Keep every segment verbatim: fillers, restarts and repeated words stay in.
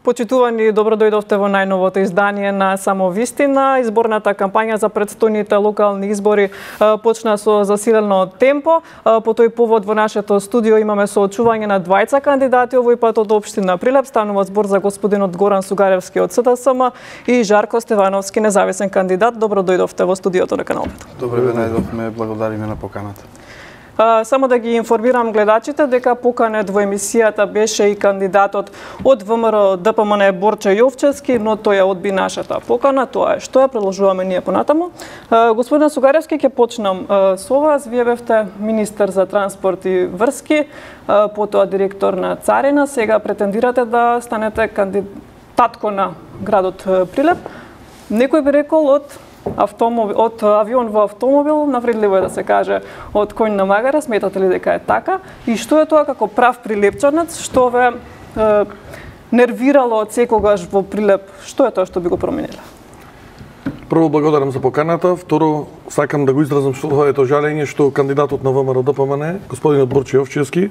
Почитувани, добро дојдовте во најновото издание на Само вистина. Изборната кампања за претстојните локални избори почна со засилено темпо. По тој повод во нашето студио имаме соочување на двајца кандидати, овој пат од општина Прилеп. Станува збор за господинот Горан Сугаревски од СДСМ и Жарко Стевановски, независен кандидат. Добро дојдовте во студиото на Канал пет. Добре ве најдовме, благодариме на поканата. Uh, само да ги информирам гледачите дека поканет во емисијата беше и кандидатот од ВМРО Д П М Н Борче Јовчевски, но тој ја одби нашата покана. Тоа е што ја продолжуваме ние понатаму. Uh, господин Сугаревски, ќе почнам uh, со вас. Вие бевте министер за транспорт и врски, uh, потоа директор на Царина, сега претендирате да станете кандидатко на градот Прилеп. Некој би рекол од автомобил, од авион во автомобил, навредливо е да се каже од коњ на магара. Сметате ли дека е така? И што е тоа како прав прилепчанец, што ве е, нервирало од секогаш во Прилеп? Што е тоа што би го променило? Прво, благодарам за поканата. Второ, сакам да го изразам своето жалење што кандидатот на ВМРО Д П М Н, господинот Борче Јовчевски,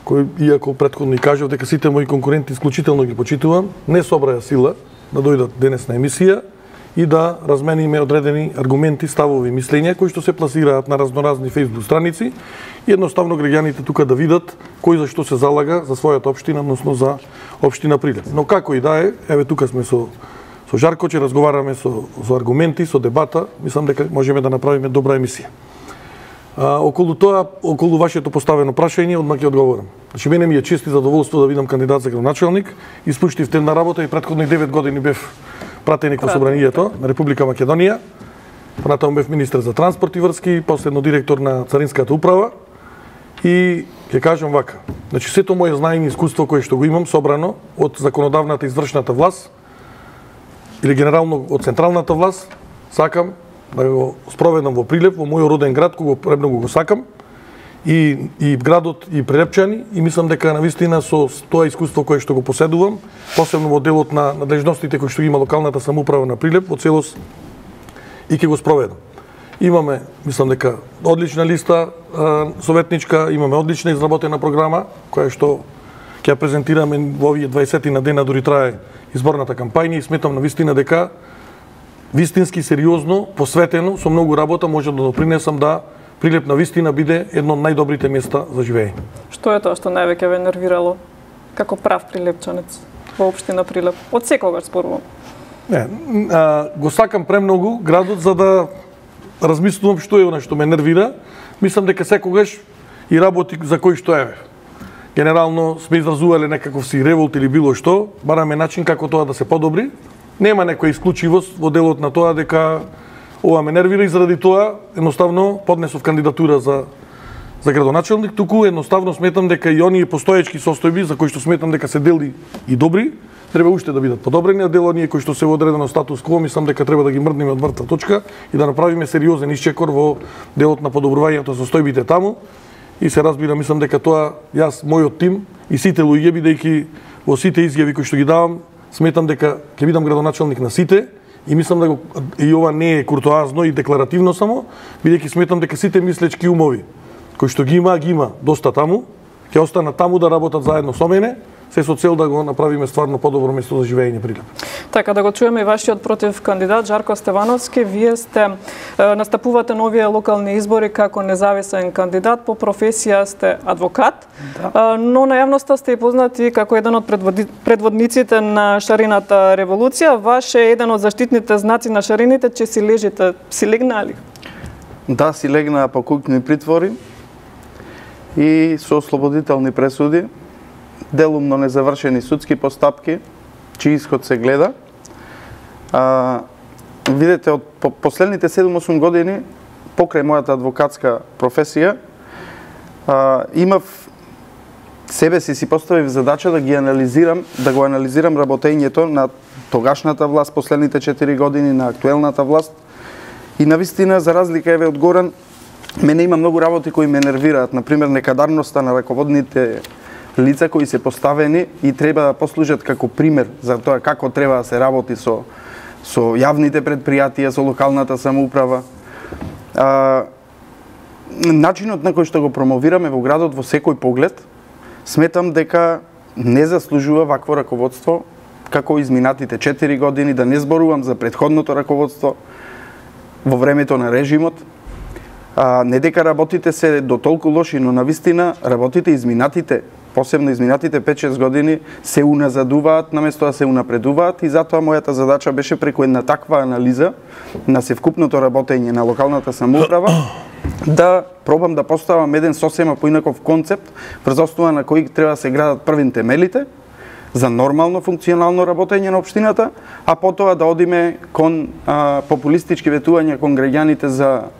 кој, иако претходно и кажав дека сите мои конкуренти исклучително ги почитувам, не собраја сила да дојдат денес на емисија и да размениме одредени аргументи, ставови, мислења кои што се пласираат на разноразни фејсбук страници и едноставно граѓаните тука да видат кој за што се залага за својата општина, односно за општина Прилеп. Но како и да е, еве тука сме со со Жарко, че разговараме со со аргументи, со дебата, мислам дека можеме да направиме добра емисија. А, околу тоа, околу вашето поставено прашање, одмак ќе одговорам. Значи, мене ми е чест и задоволство да видам кандидат за градоначалник. Испуштив една работа и претходни девет години бев пратеник во Собранието на Република Македонија. Понатаму бев министер за транспорт и врски, последно директор на Царинската управа. И ќе кажам вака, значи сето моје знаење и искуство кое што го имам собрано од законодавната и извршната власт или генерално од централната власт, сакам да го спроведам во Прилеп, во мојот роден град, кога премногу го сакам, и и градот и прилепчани, и мислам дека навистина со тоа искуство кое што го поседувам, посебно во делот на надлежностите кои што има локалната самоуправа на Прилеп во целост, и ќе го спроведам. Имаме, мислам дека одлична листа а, советничка, имаме одлична изработена програма која што ќе ја презентираме во овие дваесет на дена, дури трае изборната кампања, и сметам навистина дека вистински сериозно, посветено, со многу работа може да допринесам да Прилеп навистина биде едно од најдобрите места за живење. Што е тоа што највеќе ве нервирало како прав прилепчанец во општина Прилеп? Од секогаш спорувам. Не, а, го сакам премногу градот за да размислувам што е она што ме нервира. Мислам дека секогаш и работи за кој што е. Генерално сме изразувале некаков си револт или било што, бараме начин како тоа да се подобри. Нема некоја исклучивост во делот на тоа дека ова ме нервира, и заради тоа едноставно поднесов кандидатура за за градоначалник, туку едноставно сметам дека и оние постоечки состојби за кои што сметам дека се дели и добри, треба уште да бидат подобрени, а дел оние кои што се во одредено статус кво, мислам дека треба да ги мрднеме од мртва точка и да направиме сериозен исчекор во делот на подобрувањето состојбите таму. И се разбира, мислам дека тоа јас, мојот тим и сите луѓе, бидејќи во сите изјави кои што ги давам, сметам дека ќе бидам градоначалник на сите. И мислам дека и ова не е куртоазно и декларативно само, бидејќи сметам дека сите мислечки умови кои што ги има, ги има доста таму, ќе останат таму да работат заедно со мене, се со цел да го направиме стварно подобро место за живење Прилеп. Така, да го чуеме и вашиот против кандидат Жарко Стевановски. Вие сте е, настапувате на овие локални избори како независен кандидат, по професија сте адвокат, да. Е, но на јавноста сте и познати како еден од предводи, предводниците на шарината револуција. Ваш е еден од заштитните знаци на шарините, че си лежите, си легнали? Да, си легнаа по куќни притвори и со ослободителни пресуди, делумно незавршени судски постапки, чиј исход се гледа. А, видете, од по, последните седум-осум години, покрај мојата адвокатска професија, а, имав себе си си поставив задача да ги анализирам, да го анализирам работењето на тогашната власт последните четири години, на актуелната власт. И навистина, за разлика еве од Горан, мене има многу работи кои ме нервираат, например некадарноста на раководните лица кои се поставени и треба да послужат како пример за тоа како треба да се работи со со јавните предпријатија, со локалната самоуправа. А, начинот на кој што го промовираме во градот во секој поглед, сметам дека не заслужува вакво раководство како изминатите четири години, да не зборувам за претходното раководство во времето на режимот. А, не дека работите се до толку лоши, но навистина работите изминатите, посебно изминатите пет-шест години, се уназадуваат наместо да се унапредуваат, и затоа мојата задача беше преку една таква анализа на севкупното работење на локалната самоуправа да пробам да поставам еден сосема поинаков концепт врз основа на кој треба да се градат првин темелите за нормално функционално работење на општината, а потоа да одиме кон а, популистички ветувања кон граѓаните за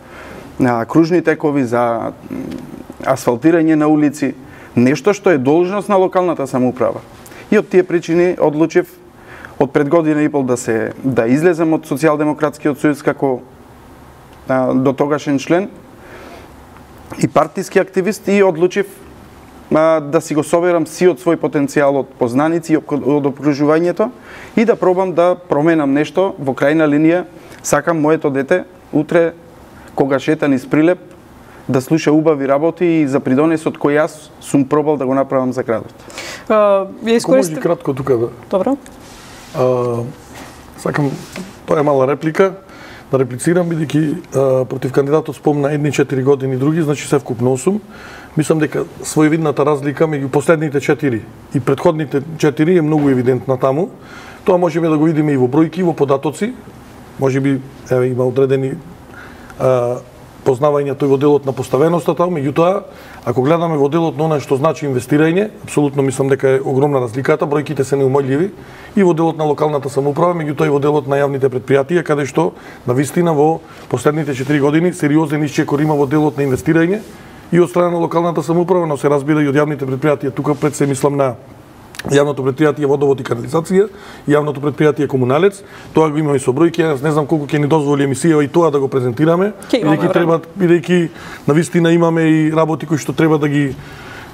а, кружни текови, за асфалтирање на улици, нешто што е должност на локалната самоуправа. И од тие причини одлучив од пред година и пол да се да излезем од Социјалдемократскиот сојуз како а, до тогашен член и партиски активист, и одлучив а, да си го соберам сиот свој потенцијал од познаници и од окружувањето и да пробам да променам нешто. Во крајна линија сакам моето дете утре кога шета низ Прилеп да слуша убави работи и за придонесот кој јас сум пробал да го направам за градот. Uh, искористи... Може кратко тука да. Добро. Uh, сакам, тоа е мала реплика, да реплицирам, бидејќи uh, против кандидатот спомна едни четири години, други, значи севкупно осум. Мислам дека своевидната разлика меѓу последните четири и претходните четири е многу евидентна таму. Тоа можеме да го видиме и во бројки, и во податоци. Можеби еве има одредени uh, познавање тој во делот на поставеноста таму, меѓутоа, ако гледаме во делот на она што значи инвестирање, апсолутно мислам дека е огромна разликата, бројките се неумолјиви и во делот на локалната самоуправа, меѓутоа и во делот на јавните претпријатија, каде што навистина во последните четири години сериозен исчекор има во делот на инвестирање и од страна на локалната самоуправа, но се разбира и од јавните претпријатија. Тука пред се мислам на јавното претпријатие водовод и канализација, јавното претпријатие комуналец. Тоа го имаме со бројки, јас не знам колку ќе ни дозволи емисија и тоа да го презентираме, бидејќи треба, бидејќи навистина имаме и работи кои што треба да ги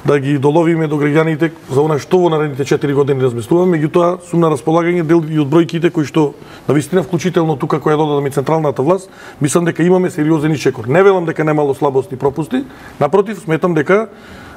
да ги доловиме до граѓаните за она што во наредните четири години размислуваме, меѓутоа сум на располагање дел и од бројките кои што навистина вклучително тука која додадам и централната власт, мислам дека имаме сериозен исчекор. Не велам дека немало слабости и пропусти, напротив, сметам дека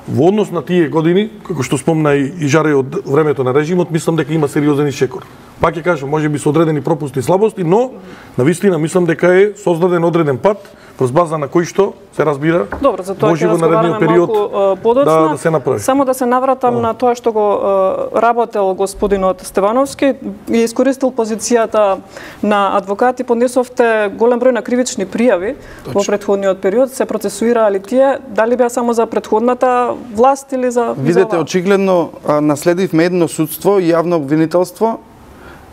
во однос на тие години, како што спомна и, и Жаре од времето на режимот, мислам дека има сериозен исчекор. Пак ќе кажам, можеби со одредени пропусти и слабости, но навистина мислам дека е создаден одреден пат врз база на кој што се разбира. Добро, за тоа ќе разговараме малку подоцна. Да, да се направи. Само да се навратам oh. на тоа што го uh, работел господинот Стевановски и искористил позицијата на адвокат и поднесовте голем број на кривични пријави Точно. Во претходниот период. Се процесуираа ли тие? Дали беа само за претходната власт или за Видете, очигледно наследивме едно судство и јавно обвинителство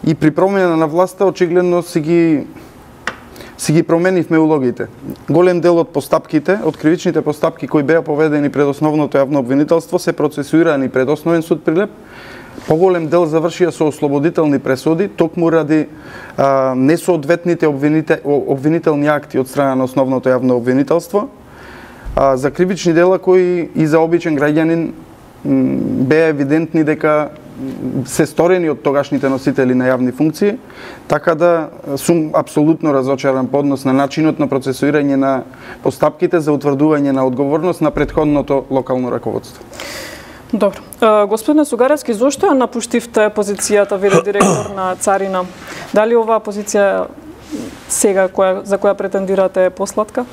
и при промена на власта очигледно си ги си ги променивме улогите. Голем дел од постапките, од кривичните постапки кои беа поведени пред основното јавно обвинителство се процесуирани пред Основен суд Прилеп. Поголем дел завршија со ослободителни пресуди, токму ради а, несоодветните обвините, обвинителни акти од страна на основното јавно обвинителство. А, за кривични дела кои и за обичен граѓанин беа евидентни дека се сторени од тогашните носители на јавни функции, така да сум апсолутно разочаран по однос на начинот на процесуирање на постапките за утврдување на одговорност на претходното локално раководство. Добро. Господине Сугаревски, зошто ја напуштивте позицијата вели директор на Царина? Дали оваа позиција сега која, за која претендирате е посладка?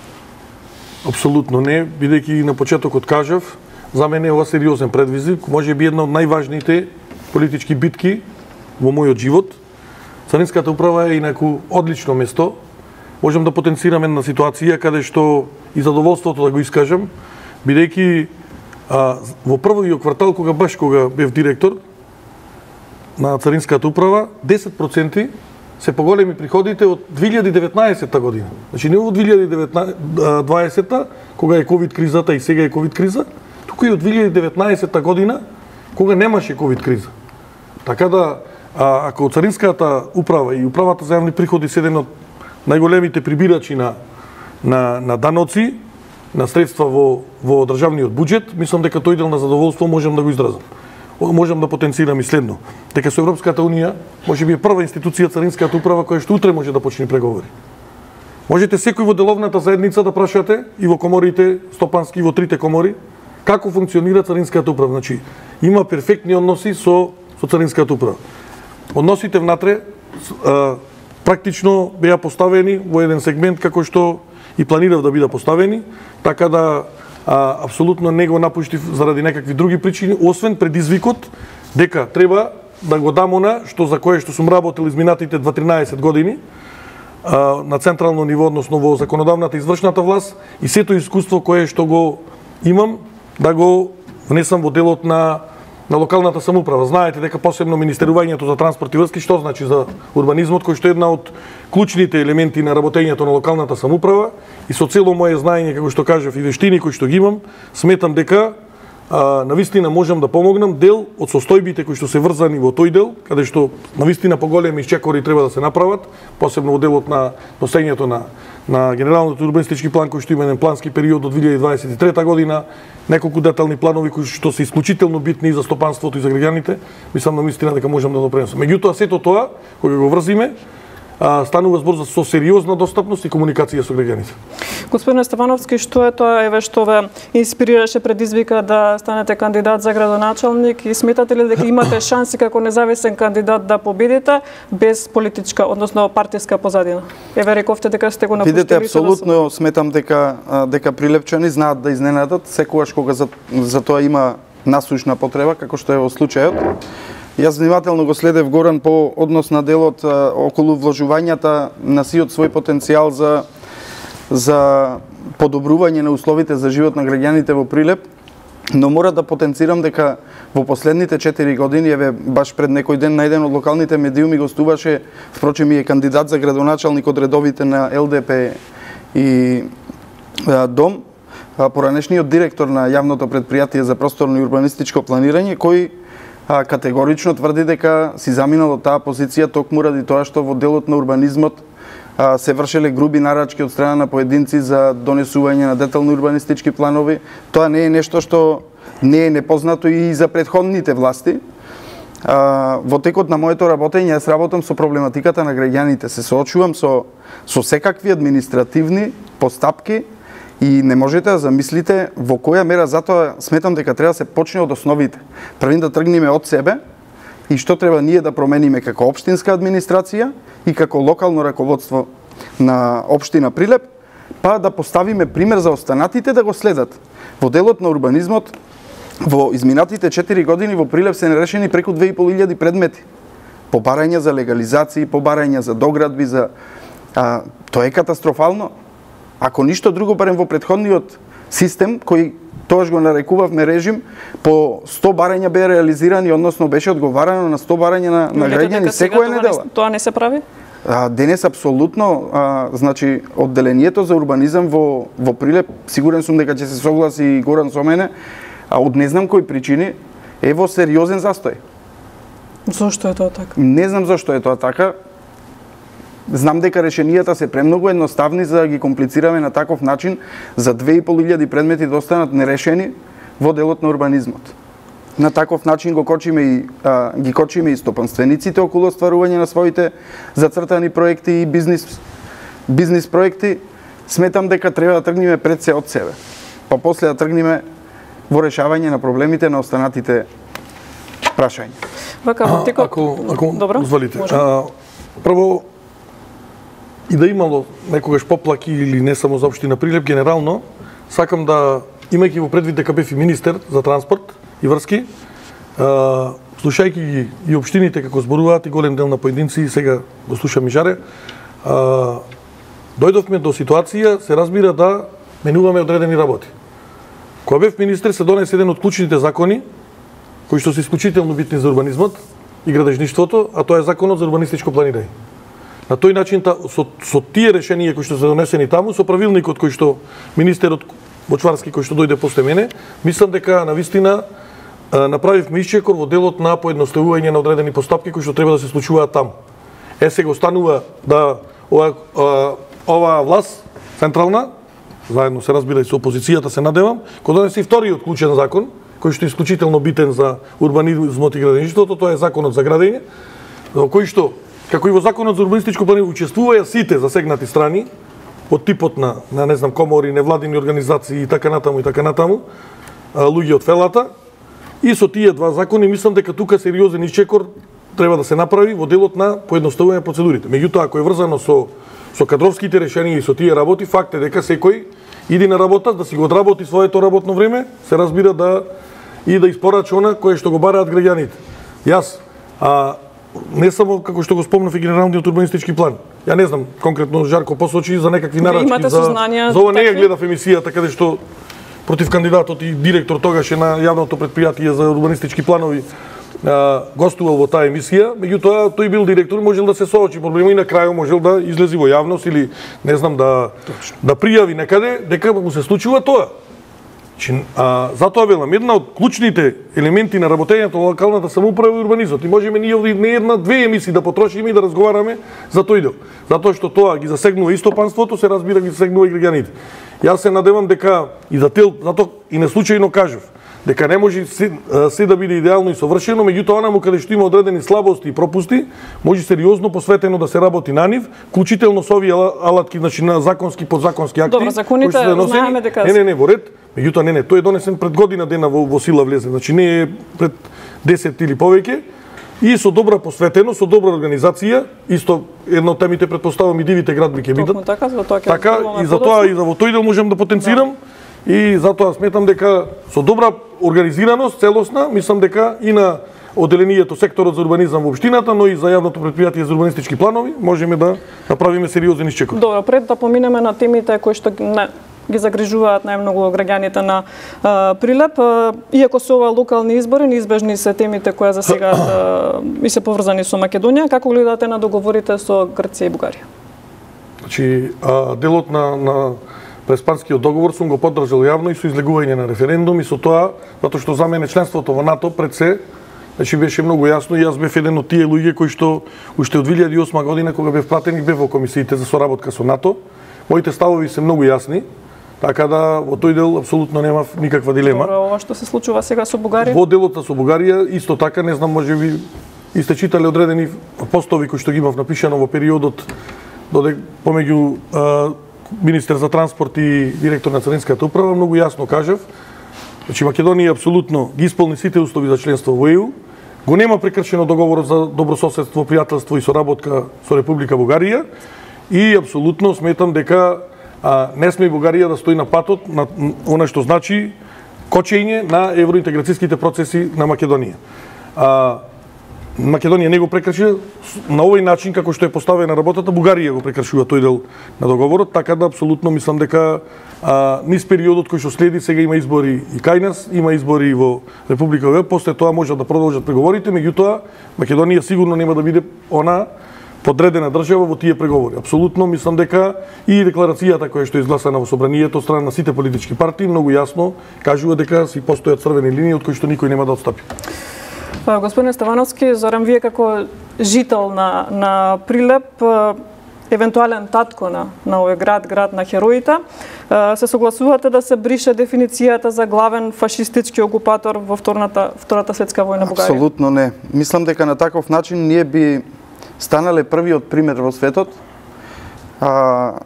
Апсолутно не, бидејќи на почетокот кажав, за мене е ова сериозен предизвик, може би една од најважните политички битки во мојот живот. Царинската управа е инаку одлично место. Можам да потенцирам една ситуација каде што и задоволството да го искажам, бидејќи а, во првиот квартал, кога баш кога бев директор на Царинската управа, десет проценти се поголеми приходите од две илјади и деветнаесетта година. Значи не од две илјади и дваесетта, кога е ковид кризата и сега е ковид криза, туку и од две илјади и деветнаесетта година, кога немаше ковид криза. Така да, а, ако Царинската управа и управата за јавни приходи се еден од најголемите прибирачи на, на, на даноци, на средства во, во државниот буџет, мислам дека тој дел на задоволство можам да го изразам. Можам да потенцирам и следно, дека со Европската унија може би е прва институција Царинската управа која што утре може да почне преговори. Можете секој во деловната заедница да прашате и во коморите стопански, и во трите комори, како функционира царинската управа. Значи, има перфектни односи со со царинската управа. Односите внатре а, практично беа поставени во еден сегмент како што и планирав да бидат поставени, така да а, апсолутно не го напуштив заради некакви други причини, освен предизвикот дека треба да го дам она што за кое што сум работил изминатите дваесет години а, на централно ниво, односно во законодавната извршната власт, и сето искуство кое што го имам да го внесам во делот на на локалната самоуправа. Знаете дека посебно Министерувањето за транспорт и врски, што значи за урбанизмот, кој што е една од клучните елементи на работењето на локалната самоуправа, и со цело мое знаење, како што кажав, и вештини кои што ги имам, сметам дека а, навистина можам да помогнам дел од состојбите кои што се врзани во тој дел, каде што навистина поголеми исчекори треба да се направат, посебно во делот на носењето на на генералниот урбанистички план кој што има еден плански период од две илјади дваесет и трета година, неколку детални планови кои што се исклучително битни и за стопанството и за граѓаните, мислам навистина дека можам да допринесам. Меѓутоа сето тоа кога го врзиме, а, станува збор за со сериозна достапност и комуникација со граѓаните. Господине Стефановски, што е тоа еве што ве инспирираше, предизвика да станете кандидат за градоначалник, и сметате ли дека имате шанси како независен кандидат да победите без политичка, односно партиска позадина? Еве рековте дека сте го напуштили. Видете, апсолутно сметам дека дека прилепчани знаат да изненадат секогаш кога за, за тоа има насушна потреба, како што е во случајот. Јас внимателно го следев Горан по однос на делот а, околу вложувањата на сиот свој потенцијал за за подобрување на условите за живот на граѓаните во Прилеп, но мора да потенцирам дека во последните четири години, еве баш пред некој ден на еден од локалните медиуми гостуваше, впрочем и е кандидат за градоначалник од редовите на Ел Де Пе и а, Дом, а, поранешниот директор на јавното предпријатие за просторно и урбанистичко планирање, кој а, категорично тврди дека си заминал од таа позиција токму ради тоа што во делот на урбанизмот а, се вршеле груби нарачки од страна на поединци за донесување на детални урбанистички планови. Тоа не е нешто што не е непознато и за претходните власти. А, во текот на моето работење јас работам со проблематиката на граѓаните, се соочувам со со секакви административни постапки и не можете да замислите во која мера. Затоа сметам дека треба да се почне од основите. Првин да тргнеме од себе и што треба ние да промениме како општинска администрација и како локално раководство на општина Прилеп, па да поставиме пример за останатите да го следат. Во делот на урбанизмот во изминатите четири години во Прилеп се нерешени преку две и пол илјади предмети. Побарања за легализации, побарања за доградби, за а, тоа е катастрофално. Ако ништо друго, барем во претходниот систем кој тоаш го нарекувавме режим, по сто барања беа реализирани, односно беше одговарано на сто барања на, на граѓани секоја недела. Тоа не се прави? А, денес апсолутно, а, значи одделението за урбанизам во во Прилеп, сигурен сум дека ќе се согласи и Горан со мене, а од не знам кои причини е во сериозен застој. Зошто е тоа така? Не знам зошто е тоа така. Знам дека решенијата се премногу едноставни за да ги комплицираме на таков начин, за две и пол илјади предмети да останат нерешени во делот на урбанизмот. На таков начин го кочиме и а, ги кочиме и стопанствениците околу остварување на своите зацртани проекти и бизнис бизнис проекти. Сметам дека треба да тргнеме пред се од себе, па после да тргнеме во решавање на проблемите на останатите прашања. Вака, во текот... Ако, ако Добро, дозволите. може. А, прво, и да имало некогаш поплаки или не само за општина Прилеп, генерално, сакам да, имајќи во предвид дека бев и министер за транспорт и врски, а, слушајќи ги и општините како зборуваат и голем дел на поединци, и сега го слушам и Жаре, а, дојдовме до ситуација, се разбира, да менуваме одредени работи. Кога бев министер се донесе еден од клучните закони, кои што се исклучително битни за урбанизмот и градежништвото, а тоа е законот за урбанистичко планирање. На тој начин, со, со тие решенија кои што се донесени таму, со правилникот кој што министерот Бочварски кој што дојде после мене, мислам дека навистина направивме исчекор во делот на поедноставување на одредени постапки кои што треба да се случуваат таму. Е, сега останува да ова, ова власт централна, заедно се разбира и со опозицијата, се надевам, кој донесе и вториот клучен закон, кој што е исклучително битен за урбанизмот и градежништвото, тоа е законот за градење, во кој што, како и во законот за урбанистичко планирање, учествуваја сите засегнати страни од типот на, на не знам, комори, невладини организации и така натаму и така натаму, луѓе од фелата. И со тие два закони мислам дека тука сериозен исчекор треба да се направи во делот на поедноставување процедурите. Меѓутоа, ако е врзано со со кадровските решенија и со тие работи, факт е дека секој иди на работа да си го одработи своето работно време, се разбира да и да испорача она кое што го бараат граѓаните. Јас а не само како што го спомнав и генералниот урбанистички план. Ја не знам конкретно Жарко посочи за некакви нарачки за за ова не ја гледав емисијата каде што против кандидатот и директор тогаше на јавното претпријатие за урбанистички планови а, гостувал во таа емисија, меѓутоа тој бил директор, можел да се соочи проблема и на крајот можел да излези во јавност или не знам да Точно. да пријави некаде дека му се случува тоа. Че, а, затоа велам, една од клучните елементи на работењето на локалната самоуправа и урбанизмот. И можеме ние овде не една, две емисии да потрошиме и да разговараме за тој дел. Затоа што тоа ги засегнува и стопанството, се разбира ги засегнува и граѓаните. Јас се надевам дека и за тел, затоа и неслучајно кажав, дека не може се, се да биде идеално и совршено, меѓутоа онаму каде што има одредени слабости и пропусти, може сериозно посветено да се работи на нив, вклучително со овие алатки, значи на законски подзаконски акти. Добро, законите знаеме дека не, не, не, во ред. Меѓутоа не, не, тој е донесен пред година дена во, во сила влезе, значи не е пред десет или повеќе. И со добра посветеност, со добра организација, исто едно од темите предпоставам и дивите градби ќе бидат. Така, за тоа ќе така и за тоа и за во тој дел можам да потенцирам. Да. И затоа сметам дека со добра организираност, целосна, мислам дека и на одделението секторот за урбанизам во општината, но и за јавното претпријатие за урбанистички планови, можеме да направиме сериозен исчекор. Добро, пред да поминеме на темите кои што не ги загрижуваат најмногу граѓаните на а, Прилеп. А, иако се ова локални избори, неизбежни се темите кои за сега а, и се поврзани со Македонија, како гледате на договорите со Грција и Бугарија? Значи, а, делот на, на преспанскиот договор сум го поддржал јавно и со излегување на референдум и со тоа, затоа што за мене членството во НАТО пред се, значи беше многу јасно и јас бев еден од тие луѓе кои што уште од две илјади и осма година кога бев пратен и бев во комисиите за соработка со НАТО, моите ставови се многу јасни. Така да во тој дел апсолутно немав никаква дилема. Добро, ова што се случува сега со Бугарија? Во делот со Бугарија исто така, не знам, можеби и сте читале одредени постови кои што ги имав напишано во периодот додек помеѓу а, министер за транспорт и директор на Царинската управа, многу јасно кажав. Значи Македонија апсолутно ги исполни сите услови за членство во Е Ју. Го нема прекршено договорот за добрососедство, пријателство и соработка со Република Бугарија и апсолутно сметам дека а, не сме Бугарија да стои на патот на она што значи кочење на евроинтеграцијските процеси на Македонија. А, Македонија не го прекрши на овој начин како што е поставена работата, Бугарија го прекршува тој дел на договорот, така да апсолутно мислам дека а, низ периодот кој што следи, сега има избори и кај нас, има избори во Република Бугарија, после тоа можат да продолжат преговорите, меѓутоа Македонија сигурно нема да биде она подредена држава во тие преговори. Апсолутно мислам дека и декларацијата која што е изгласана во собранието од страна на сите политички партии многу јасно кажува дека си постојат црвени линии од кои што никој нема да отстапи. Господин Ставановски, Зоран, вие како жител на на Прилеп, евентуален татко на на овој град, град на хероите, се согласувате да се брише дефиницијата за главен фашистички окупатор во втората втората светска војна Бугарија? Апсолутно не. Мислам дека на таков начин ние би станале првиот пример во светот, а,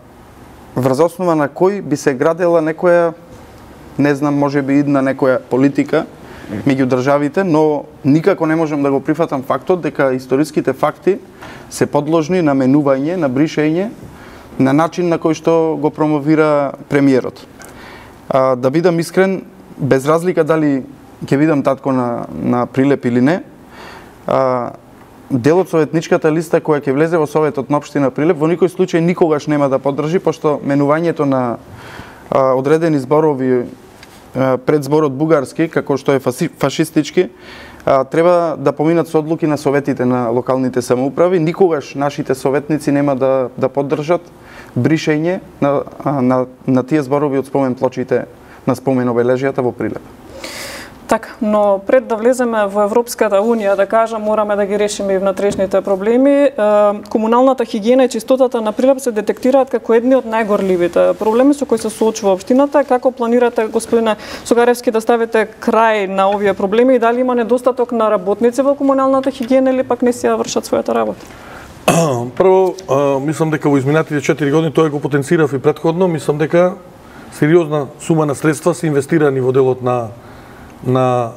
врз основа на кој би се градела некоја, не знам, може би идна некоја политика меѓу државите, но никако не можам да го прифатам фактот дека историските факти се подложни на менување, на бришење, на начин на кој што го промовира премиерот. А, да бидам искрен, без разлика дали ќе видам татко на, на Прилеп или не, а, делот со етничката листа која ќе влезе во Советот на општина Прилеп во никој случај никогаш нема да поддржи, пошто менувањето на а, одредени зборови а, пред зборот бугарски, како што е фашистички, а, треба да поминат со одлуки на советите на локалните самоуправи. Никогаш нашите советници нема да да поддржат бришење на, на, на тие зборови од спомен плочите на спомен обележјата во Прилеп. Така, но пред да влеземе во Европската Унија, да кажам, мораме да ги решиме и внатрешните проблеми. Комуналната хигиена и чистотата на Прилеп се детектираат како едни од најгорливите проблеми со кои се соочува општината. Како планирате, господине Согаревски, да ставите крај на овие проблеми и дали има недостаток на работници во комуналната хигиена или пак не си ја вршат својата работа? Прво, мислам дека во изминатите четири години тоа го потенцирав и претходно, мислам дека сериозна сума на средства се инвестирани во делот на на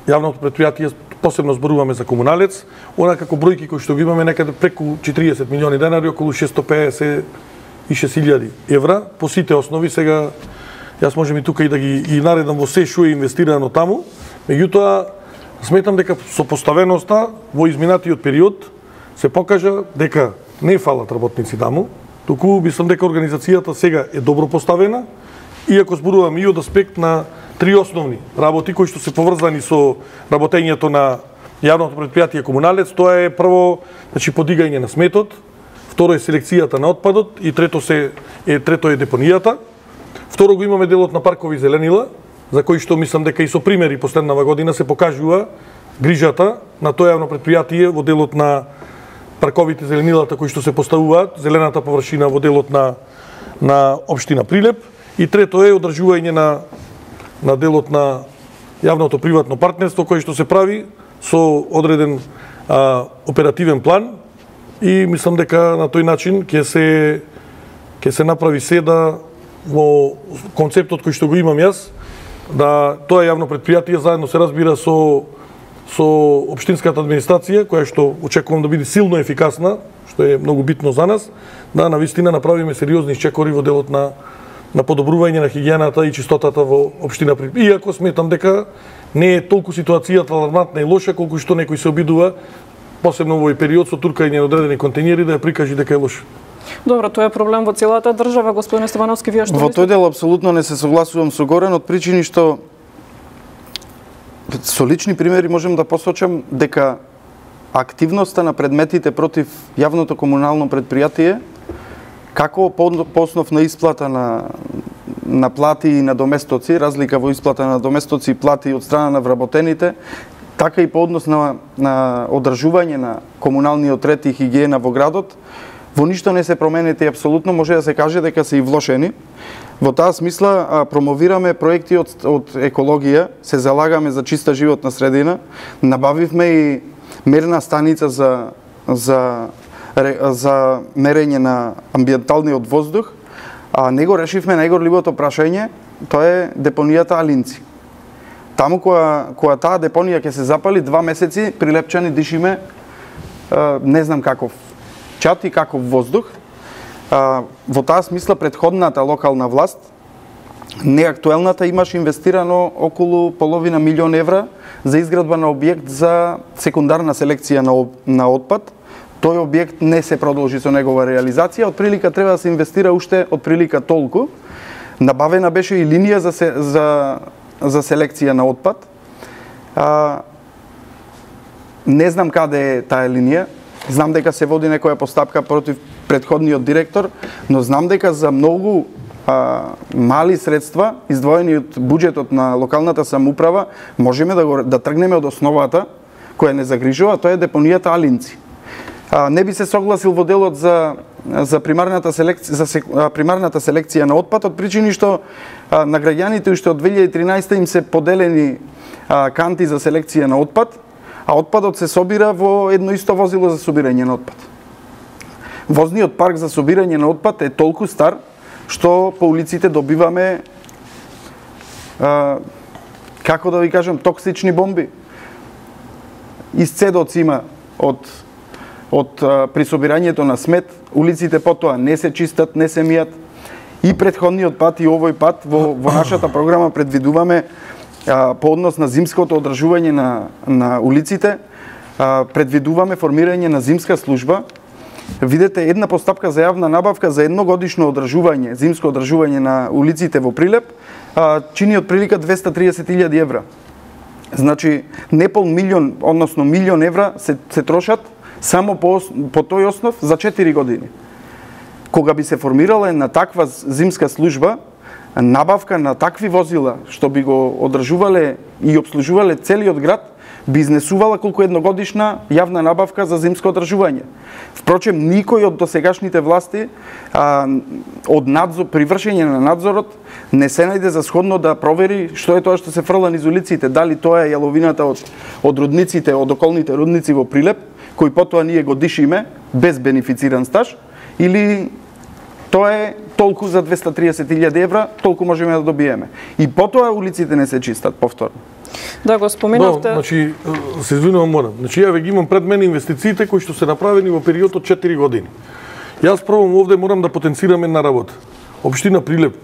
јавното предпријатие, посебно зборуваме за комуналец, она како бројки кои што ги имаме некаде преку четириесет милиони денари, околу шесто пеесет и шест илјади евра по сите основи. Сега јас можем и тука и да ги и наредам во се што е инвестирано таму. Меѓутоа сметам дека со поставеноста во изминатиот период се покажа дека не фалат работници таму, туку мислам дека организацијата сега е добро поставена, иако зборуваме и од аспект на три основни работи кои што се поврзани со работењето на јавното предпријатие комуналец. Тоа е прво, значи подигање на сметот, второ е селекцијата на отпадот и трето се е трето е депонијата. Второ го имаме делот на паркови зеленила, за кои што мислам дека и со примери последнава година се покажува грижата на тоа јавно предпријатие во делот на парковите зеленилата кои што се поставуваат, зелената површина во делот на на општина Прилеп, и трето е одржување на на делот на јавното приватно партнерство кој што се прави со одреден а, оперативен план, и мислам дека на тој начин ќе се ќе се направи се да во концептот кој што го имам јас, да тоа јавно предпријатие заедно се разбира со со општинската администрација, која што очекувам да биде силно ефикасна, што е многу битно за нас, да навистина направиме сериозни чекори во делот на на подобрување на хигиената и чистотата во општина Прилеп. Иако сметам дека не е толку ситуацијата алармантна и лоша колку што некој се обидува, посебно во овој период со туркање на одредени контейнери, да ја прикажи дека е лоша. Добро, тоа е проблем во целата држава, господин Стевановски, вие што Во мислите? тој дел апсолутно не се согласувам со Горан, од причини што со лични примери можем да посочам дека активноста на предметите против јавното комунално предпријатие, како по основ на исплата на на плати и на доместоци, разлика во исплата на доместоци и плати од страна на вработените, така и по однос на, на одржување на комуналниот ред и хигиена во градот, во ништо не се променети апсолутно, може да се каже дека се и влошени. Во таа смисла а, промовираме проекти од, од екологија, се залагаме за чиста животна средина, набавивме и мерна станица за, за, за мерење на амбиенталниот воздух, а него решивме најгорливото прашање, тоа е депонијата Алинци. Таму која, која таа депонија ќе се запали, два месеци прилепчани дишиме, не знам каков чат и каков воздух. Во таа смисла претходната локална власт, неактуелната, имаше инвестирано околу половина милион евра за изградба на објект за секундарна селекција на, на отпад. Тој објект не се продолжи со негова реализација, од прилика треба да се инвестира уште од прилика толку. Набавена беше и линија за, се, за, за селекција на отпад. А, не знам каде е таа линија, знам дека се води некоја постапка против претходниот директор, но знам дека за многу а, мали средства, издвоени од буџетот на локалната самоуправа, можеме да, го, да тргнеме од основата која не загрижува, тоа е депонијата Алинци. А, не би се согласил во делот за за примарната селекција за сек, а, примарната селекција на отпад, од причини што а, на граѓаните уште од две илјади и тринаесета им се поделени а, канти за селекција на отпад, а отпадот се собира во едно исто возило за собирање на отпад. Возниот парк за собирање на отпад е толку стар што по улиците добиваме а, како да ви кажам, токсични бомби. Исцедоци има од од а, при собирањето на смет, улиците потоа не се чистат, не се мијат. И претходниот пат и овој пат во, во нашата програма предвидуваме а, по однос на зимското одржување на, на улиците, а, предвидуваме формирање на зимска служба. Видете, една постапка за јавна набавка за едногодишно одржување, зимско одржување на улиците во Прилеп, а, чини од прилика двеста триесет илјади евра. Значи, не пол милион, односно милион евра се, се трошат само по, по тој основ за четири години. Кога би се формирала една таква зимска служба, набавка на такви возила, што би го одржувале и обслужувале целиот град, би изнесувала колку едногодишна јавна набавка за зимско одржување. Впрочем, никој од досегашните власти а, од надзор, при вршење на надзорот не се најде за сходно да провери што е тоа што се фрла низ улиците, дали тоа е јаловината од, од рудниците, од околните рудници во Прилеп, кој потоа ние го дишиме без бенефициран стаж, или тоа е толку за двеста триесет илјади евра, толку можеме да добиеме. И потоа улиците не се чистат повторно. Да, го споменавте. Да, значи, се извинувам, морам. Значи, ја ве ги имам пред мене инвестициите кои што се направени во период од четири години. Јас пробам овде морам да потенцирам една работа. Општина Прилеп.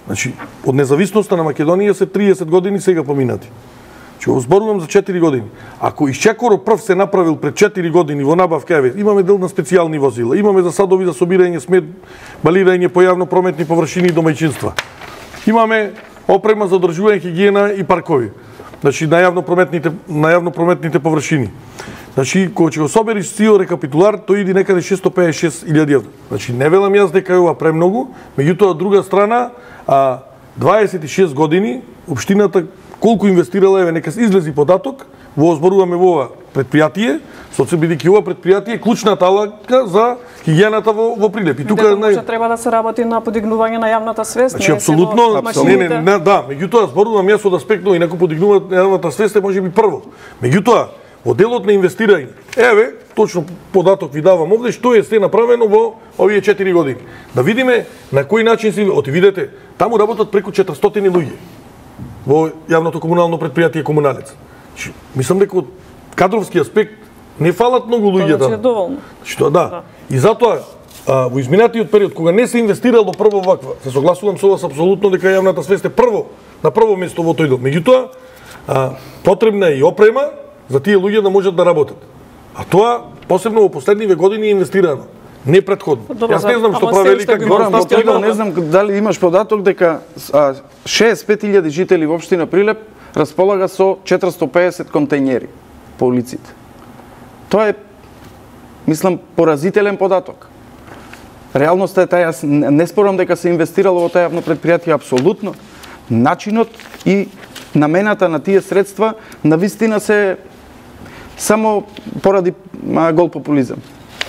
Значи, од независноста на Македонија се триесет години сега поминати. Значи, зборувам за четири години. Ако Исчекоро прв се направил пред четири години во набавка, еве, имаме дел на специјални возила, имаме за садови за собирање смет, балирање по јавно прометни површини и домаќинства. Имаме опрема за одржување хигиена и паркови. Значи на јавно прометните на јавно прометните површини. Значи кога ќе го собериш цел рекапитулар, тој иди некаде шестоста пеесет и шест илјади евра. Значи не велам јас дека е ова премногу, меѓутоа од друга страна, а дваесет и шест години општината колку инвестирала, еве нека излези податок, во зборуваме во ова предпријатие, со се бидејќи ова предпријатие е клучната алака за хигиената во, во Прилеп. И тука може треба да се работи на подигнување на јавната свест. Значи апсолутно, не, не, не, да, меѓутоа зборувам јас од аспект на инаку подигнуваат јавната свест е можеби прво. Меѓутоа, во делот на инвестирање, еве, точно податок ви давам овде што е се направено во овие четири години. Да видиме на кој начин се оти видете, таму работат преку четиристотини луѓе во јавното комунално предпријатие Комуналец. Мислам дека од кадровски аспект не фалат многу луѓе таму. Тоа е доволно. Што да. да. И затоа а, во изминатиот период кога не се инвестирало прво ваква, се согласувам со вас апсолутно дека јавната свест е прво на прво место во тој дел. Меѓутоа, а, потребна е и опрема за тие луѓе да можат да работат. А тоа посебно во последниве години е инвестирано. Не претходно. Добро, Јас не знам што правели како Горан, во тој дел не знам дали имаш податок дека шеесет и пет илјади жители во општина Прилеп располага со четиристотини и пеесет контејнери по улиците. Тоа е, мислам, поразителен податок. Реалноста е таа, јас не спорам дека се инвестирало во таа јавно предпријатие апсолутно. Начинот и намената на тие средства навистина се само поради а, гол популизам.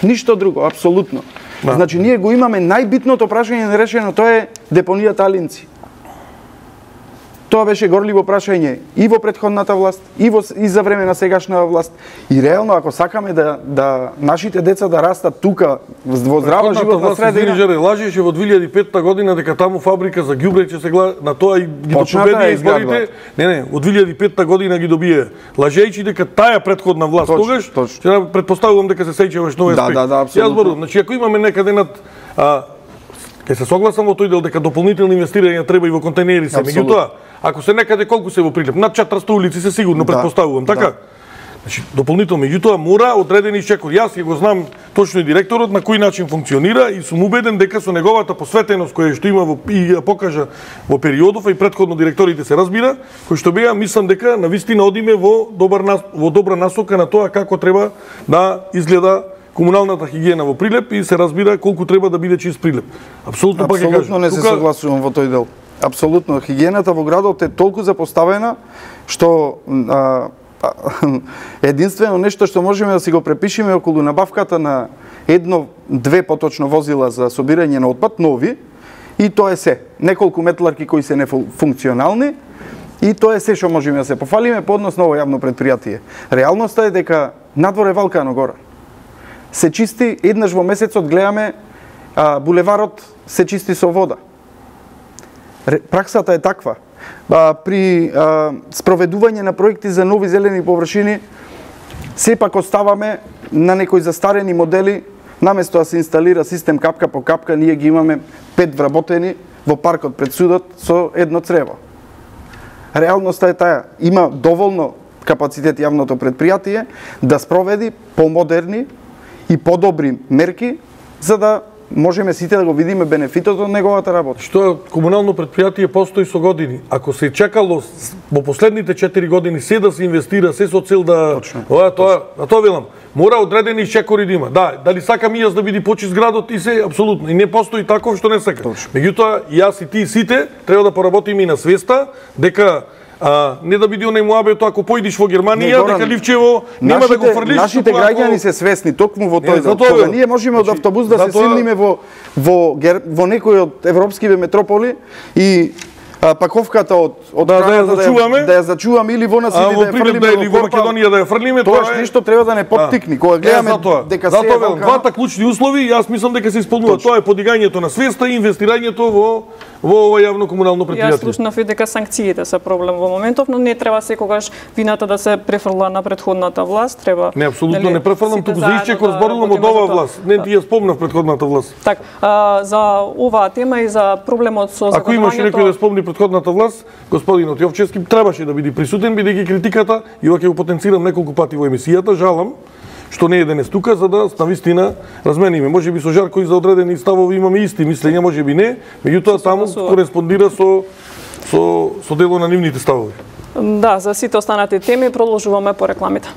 Ништо друго, апсолутно. Да. Значи, ние го имаме најбитното прашање нерешено, тоа е депонијата Алинци. Тоа беше горливо прашање и во претходната власт, и во и за време на сегашната власт. И реално ако сакаме да да нашите деца да растат тука во здрава животна средина, Жери лажеше во две илјади и петта година дека таму фабрика за ѓубре ќе се гледа на тоа и ги допобеди изборите. Не, не, од две илјади и петта година ги добие. Лажејќи дека таа предходна власт тогаш, ќе претпоставувам дека се сеќаваш нови аспект. Да, да, да, апсолутно. Јас зборувам, значи ако имаме некаде над а, ќе се согласам во тој дел дека дополнителни инвестирања треба и во контејнери се. Меѓутоа, ако се некаде колку се во Прилеп, над четиристотини улици се сигурно да, претпоставувам, така? Да. Значи, дополнително, меѓутоа мора одредени Исчекор. Јас ќе го знам точно и директорот на кој начин функционира и сум убеден дека со неговата посветеност која што има во, и ја покажа во периодов, а и претходно директорите се разбира, кој што беа, мислам дека навистина одиме во добар во добра насока на тоа како треба да изгледа комуналната хигиена во Прилеп и се разбира колку треба да биде чист Прилеп. Апсолутно пак ќе кажам. Апсолутно не се согласувам во тој дел. Апсолутно, хигиената во градот е толку запоставена што а, а, единствено нешто што можеме да си го препишеме околу набавката на едно, две поточно возила за собирање на отпад, нови, и тоа е се. Неколку метларки кои се нефункционални, и тоа е се што можеме да се пофалиме по однос на ово јавно предпријатие. Реалноста е дека надвор е Валкано гора. Се чисти, еднаш во месецот гледаме а, булеварот се чисти со вода. Праксата е таква. А, при а, спроведување на проекти за нови зелени површини, сепак оставаме на некои застарени модели, наместо да се инсталира систем капка по капка, ние ги имаме пет вработени во паркот пред судот со едно црево. Реалноста е таа, има доволно капацитет јавното предпријатие да спроведи помодерни и подобри мерки за да можеме сите да го видиме бенефитот од неговата работа. Што комунално предпријатие постои со години. Ако се чекало во последните четири години се да се инвестира, се со цел да ова тоа, на тоа велам, мора одредени Исчекори да има. Да, дали сакам и јас да биде почист градот и се апсолутно. И не постои таков што не сака. Меѓутоа, јас и ти сите треба да поработиме и на свеста дека А, не да биде онај муабето ако поидиш во Германија, дека Ливчево нема нашите, да го фрлиш. Нашите граѓани се свесни токму во тој дел. Кога ние можеме од автобус да се силниме во во во некој од европскиве метрополи и а, паковката од од Да, да ја храната зачуваме. да ја зачуваме или во нас А или во да ја придем да фрлиме или во во корпа. Македонија да ја фрлиме, Тоа тоа е ништо треба да не поттикни. Кога гледаме Е, затоа, дека се затоа велам, валкана- двата клучни услови, јас мислам дека се исполнуваат. Тоа е подигањето на свеста и инвестирањето во во ова јавно комунално Јас претпријатие. слушнав и дека санкциите се проблем во моментов, но не треба секогаш вината да се префрла на претходната власт, треба. Не, апсолутно нели, не префрлам, сите туку за заедно Исчекор да зборувам од работиме за оваа тоа. власт. Не ти ја спомнав претходната власт. Так, а, за оваа тема и за проблемот со Ако имаше загадувањето- некој да спомни претходната власт, господинот Јовчевски требаше да биде присутен, бидејќи критиката, и ова ќе го потенцирам неколку пати во емисијата, жалам што не е денес тука, за да навистина размениме. Може би со Жарко и за одредени ставови имаме исти мислења, може би не, меѓутоа таму согласува. кореспондира со со со дело на нивните ставови. Да, за сите останати теми продолжуваме по рекламите.